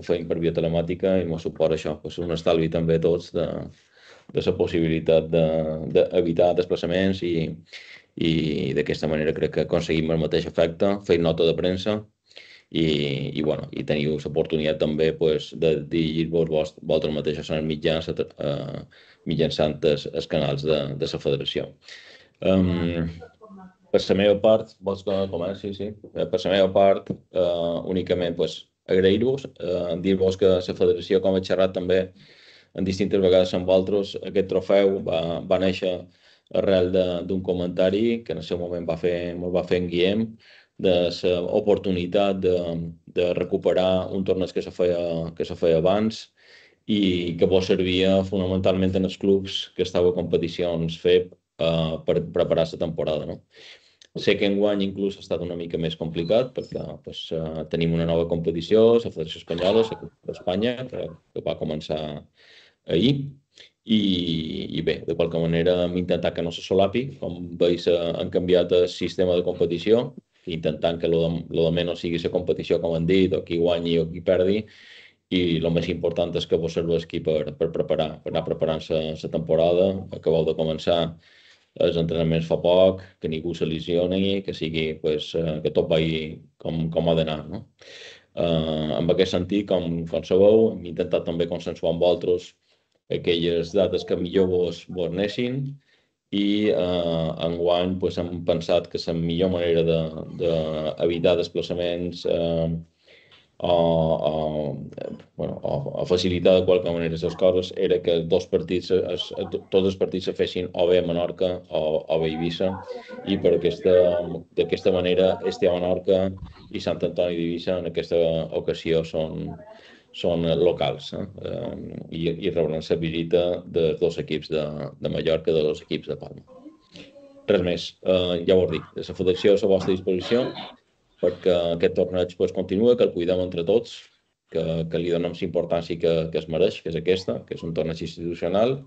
ho feim per via telemàtica i ens suposa això, un estalvi també a tots de la possibilitat d'evitar desplaçaments i d'aquesta manera crec que aconseguim el mateix efecte, fer nota de premsa i teniu l'oportunitat també de dirigir-vos vosaltres mateixos en els mitjans mitjançant els canals de la federació. Per la meva part, vols que comenci? Sí. Per la meva part, únicament agrair-vos, dir-vos que la federació, com he xerrat també en distintes vegades amb vosaltres, aquest trofeu va néixer arrel d'un comentari que en el seu moment va fer en Guillem, de l'oportunitat de recuperar un torneig que se feia abans i que vos servia fonamentalment en els clubs que estava a competicions FEB per preparar la temporada. Sé que enguany inclús ha estat una mica més complicat perquè tenim una nova competició, la Federació Espanyola, la Copa d'Espanya, que va començar ahir. I bé, de qualque manera hem intentat que no se solapi. Com veus, han canviat el sistema de competició, intentant que el de menys sigui la competició, com han dit, o qui guanyi o qui perdi, i el més important és que vos serveixi per anar preparant la temporada. Acabeu de començar els entrenaments fa poc, que ningú se lesioni, que que tot vagi com ha d'anar. En aquest sentit, com sabeu, hem intentat també consensuar amb vosaltres aquelles dates que millor vos anessin i enguany hem pensat que la millor manera d'evitar desplaçaments o facilitar de qualque manera les coses era que tots els partits se fessin o bé a Menorca o bé a Eivissa, i d'aquesta manera este a Menorca i Sant Antoni d'Eivissa en aquesta ocasió són locals i rebran la visita dels dos equips de Mallorca i dels dos equips de Palma. Res més, ja ho he dit, la federació és a la vostra disposició perquè aquest torneig continua, que el cuidem entre tots, que li donem la importància que es mereix, que és aquesta, que és un torneig institucional,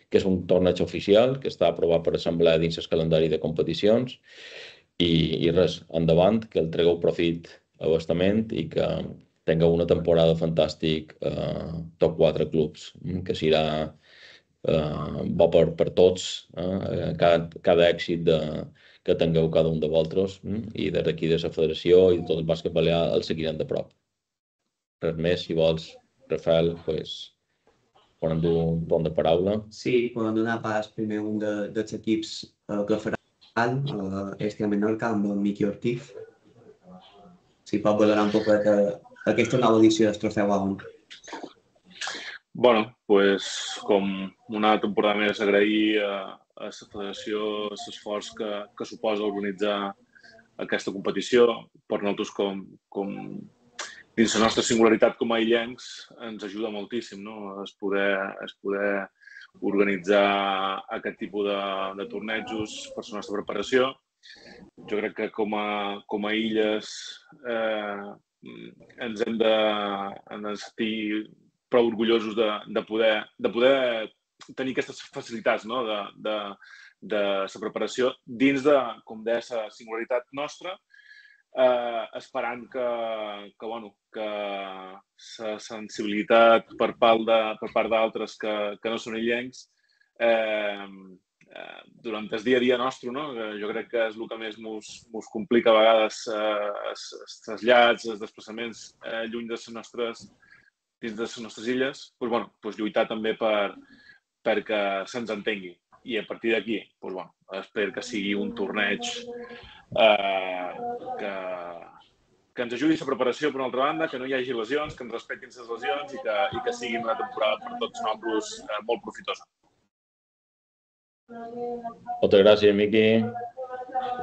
que és un torneig oficial, que està aprovat per assemblea dins el calendari de competicions i res, endavant, que el tregueu profit abastament i que tingueu una temporada fantàstica top 4 clubs, que serà bo per tots, cada èxit que tingueu cada un de vosaltres i des d'aquí de la federació i de tot el bàsquet balear el seguirem de prop. Res més, si vols, Rafael, podem dur un torn de paraula. Sí, podem donar pas primer un dels equips que faran este a Menorca amb el Miqui Ortiz. Si pot valorar un poc aquesta nova edició del trofeu A1. Bueno, com una temporada més agrair a la federació l'esforç que suposa organitzar aquesta competició. Per nosaltres, dins la nostra singularitat com a illencs, ens ajuda moltíssim es poder organitzar aquest tipus de tornejos per la nostra preparació. Jo crec que com a illes ens hem de sentir prou orgullosos de poder tenir aquestes facilitats de la preparació dins de, com deia, la singularitat nostra, esperant que la sensibilitat per part d'altres que no són illencs durant el dia a dia nostre, jo crec que és el que més ens complica a vegades els trasllats, els desplaçaments lluny dins de les nostres illes, lluitar també perquè se'ns entengui. I a partir d'aquí, espero que sigui un torneig que ens ajudi a la preparació, per una altra banda, que no hi hagi lesions, que ens respectin les lesions i que sigui una temporada per tots nosaltres molt profitosa. Moltes gràcies, Miqui.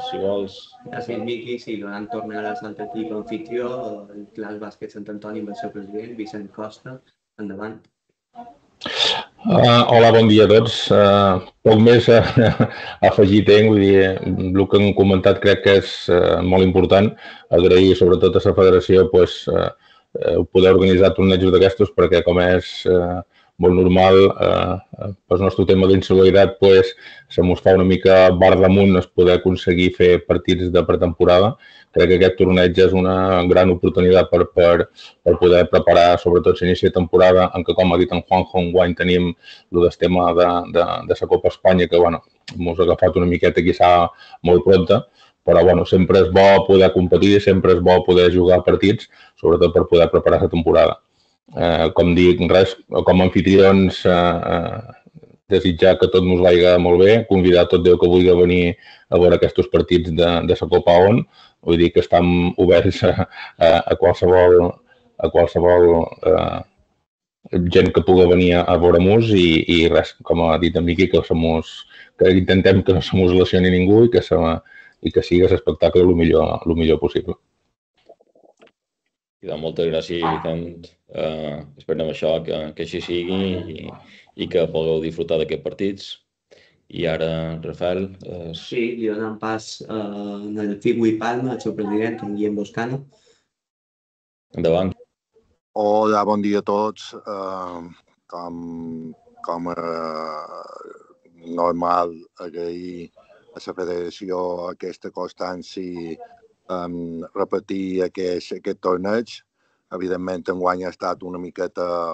Si vols... Gràcies, Miqui. Sí, donant tornar a l'altre equip anfitrió, el Clas Bàsquet Sant Antoni amb el seu president, Vicent Costa. Endavant. Hola, bon dia a tots. Poc més a afegir tinc, vull dir, el que han comentat crec que és molt important. Agrair sobretot a la federació poder organitzar tornejos d'aquestos perquè com és molt normal, pel nostre tema d'insalaritat, se mos fa una mica bar damunt es poder aconseguir fer partits de pretemporada. Crec que aquest torneig és una gran oportunitat per poder preparar, sobretot l'inici de temporada, en què, com ha dit en Juanjo, enguany tenim el tema de la Copa Espanya, que mos ha agafat una miqueta quizà molt pronta, però sempre és bo poder competir, sempre és bo poder jugar partits, sobretot per poder preparar la temporada. Com dic, com a anfitrions, desitjar que tot ens vagi molt bé, convidar tot Déu que vulgui venir a veure aquests partits de la Copa ON. Vull dir que estem oberts a qualsevol gent que pugui venir a veure-nos i res, com ha dit en Miqui, que intentem que no se mos lesioni ningú i que sigui l'espectacle el millor possible. Moltes gràcies, Vicent. Esperem això, que així sigui i que pugueu disfrutar d'aquests partits. I ara, Rafael... Sí, li donem pas al Figui Palma, el seu president, en Guillem Boscano. Endavant. Hola, bon dia a tots. Com normal, agrair a la federació aquesta constància repetir aquest torneig. Evidentment, enguany ha estat una miqueta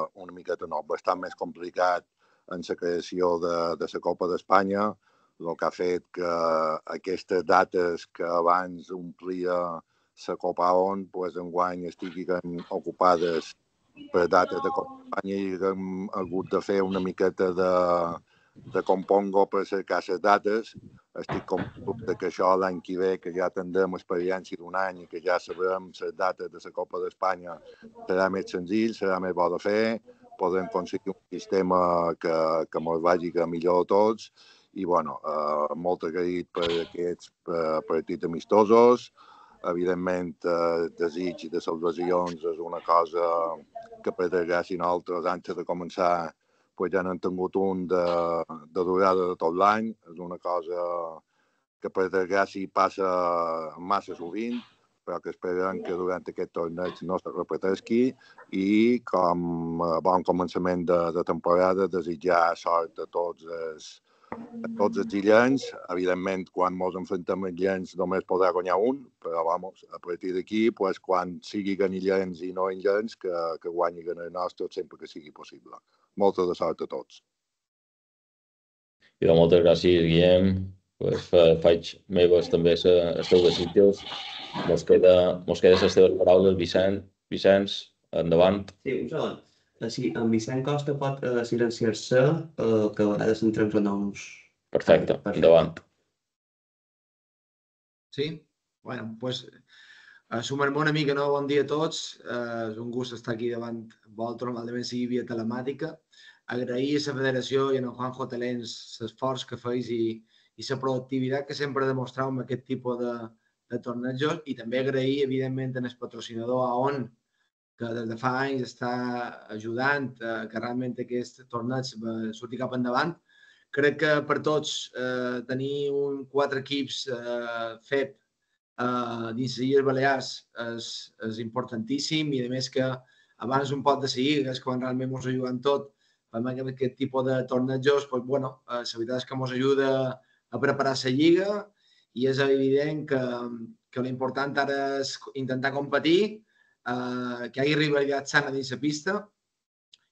nou, bastant més complicat en la creació de la Copa d'Espanya, el que ha fet que aquestes dates que abans omplia la Copa ON, enguany estiguin ocupades per dates de Copa d'Espanya i hem hagut de fer una miqueta de compongo per cercar les dates. Estic convençut que això l'any que ve, que ja tindrem experiència d'un any i que ja sabrem les dates de la Copa d'Espanya, serà més senzill, serà més bo de fer, podrem aconseguir un sistema que ens vagi millor a tots i, molt agraït per aquests partits amistosos. Evidentment, desig de salvacions és una cosa que per desgràcia nosaltres, antes de començar, ja n'hem tingut un de durada de tot l'any. És una cosa que per desgràcia passa massa sovint, però que esperem que durant aquest torneig no se repeteixi i com a bon començament de temporada desitjar sort a tots els illencs. Evidentment, quan ens enfrontem als illencs només podrà guanyar un, però a partir d'aquí, quan siguin illencs i no illencs, que guanyin el nostre sempre que sigui possible. Molta de sort a tots. Moltes gràcies, Guillem. Faig meves també els teus desitjos. Mos queden les teves paraules, Vicenç, endavant. Sí, un segon. Si en Vicent Costa pot silenciar-se, que a vegades entrem renoms. Perfecte, endavant. Sí? Bueno, doncs sumar-me una mica, no? Bon dia a tots. És un gust estar aquí davant vosaltres, normalment sigui via telemàtica. Agrair a la federació i a Juanjo Telens l'esforç que feis i la productivitat que sempre demostreu amb aquest tipus de tornejos i també agrair, evidentment, al patrocinador AON, que des de fa anys està ajudant que realment aquest torneig surti cap endavant. Crec que per tots tenir 4 equips FEP dins les Illes Balears és importantíssim i a més que abans un pot decidir, és quan realment ens ajuden tot amb aquest tipus de tornejos, la veritat és que ens ajuda a preparar la lliga i és evident que l'important ara és intentar competir, que hi hagi rivalitat sana dins la pista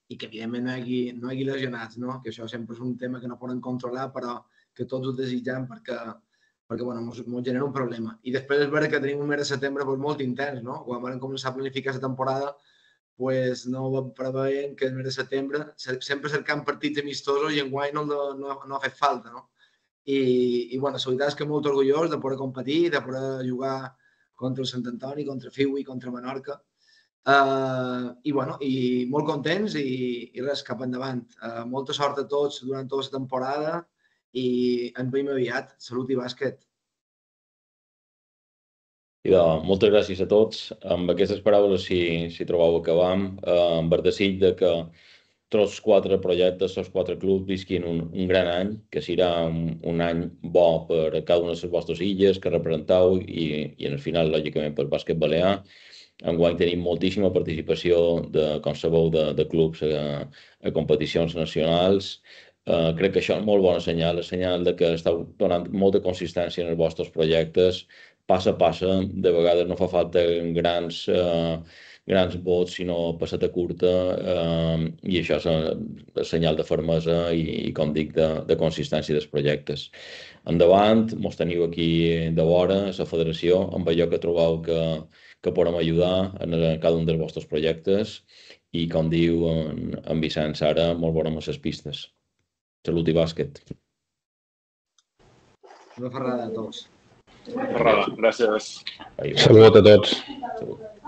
i que evidentment no hi hagi lesionats, no? Que això sempre és un tema que no podem controlar però que tots ho desitgem perquè ens genera un problema. I després és veritat que tenim un mes de setembre molt intens, no? Quan vam començar a planificar la temporada no preveiem que el mes de setembre sempre cercant partits amistosos i enguany no ha fet falta, no? I la veritat és que molt orgullós de poder competir, de poder jugar contra el Sant Antoni, contra Figui, contra Menorca. I molt contents i res, cap endavant. Molta sort a tots durant tota la temporada i ens veiem aviat. Salut i bàsquet. Moltes gràcies a tots. Amb aquestes paraules, si trobeu que vam, amb el desig que tots els 4 projectes, els 4 clubs visquin un gran any, que serà un any bo per cada una de les vostres illes que representeu i en el final, lògicament, pel bàsquet balear. Enguany tenim moltíssima participació, com sabeu, de clubs a competicions nacionals. Crec que això és molt bona senyal, és senyal que esteu donant molta consistència en els vostres projectes, passa a passa, de vegades no fa falta grans vots, sinó passeta curta, i això és senyal de fermesa i com dic, de consistència dels projectes. Endavant, mos teniu aquí de vora, a la federació, amb allò que trobeu que podem ajudar en cada un dels vostres projectes i, com diu en Vicenç ara, molt bona amb les pistes. Salut i bàsquet. Una ferrada a tots. Ferrada, gràcies. Salut a tots. Salut.